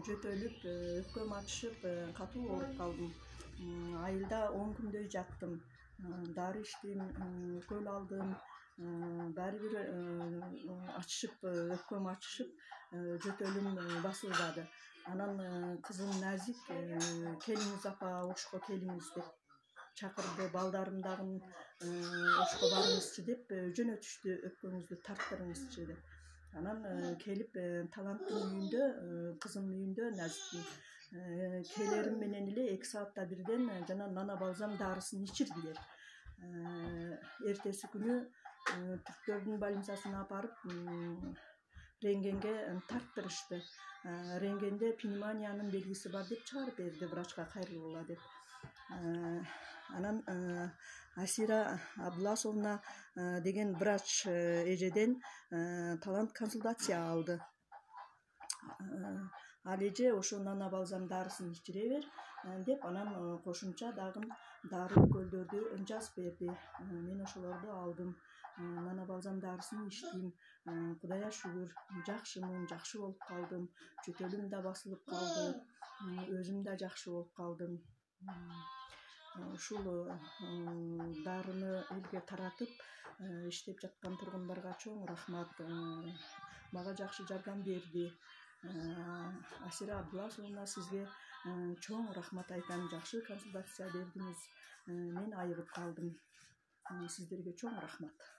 жөтөлүп, өпкөм ачышып, катуу ооруп калдым. Айылда 10 күндөй жаттым. Дары иштим, укол алдым. Баары бир ачышып, өпкөм ачышып, жөтөлүм басылбады. Анан кызым Назик келиңиз апа, ошко келиңиз деп чакырды. Балдарым дагы ошко барыңызчы деп жөнөтүштү, өпкөңүздү тарттырыңызчы деп. Анан келип Таланттын үйүндө, кызымдын үйүндө Назиктин келерим менен эле 2 саатта бирден жана нана балзам дарысын ичирдилер. Эртеси күнү Түрктөрдүн больницасына апарып рентгенге тарттырышты. Рентгенде пневмониянын белгиси бар деп чыгарып берди, врачка кайрылгыла деп. Анан Асира Абдуласовна деген врач эжеден Талант консультация алды. Ал эже ошо нана балзам дарысын ичире бер деп, анан кошумча дагы дары уколдорду жазып берди. Мен ошолорду алдым. Нана балзам дарысын ичтим. Кудайга шүгүр, жакшымын, жакшы болуп калдым. Жөтөлүм да басылып калды. Өзүм да жакшы болуп калдым. Ушул дарыны элге таратып иштеп жаткан тургундарга чоң рахмат. Мага жакшы жардам берди. Асира Абдуласовна, сизге чоң рахмат айтам. Жакшы консультация бердиңиз. Мен айыгып калдым. Сиздерге чоң рахмат.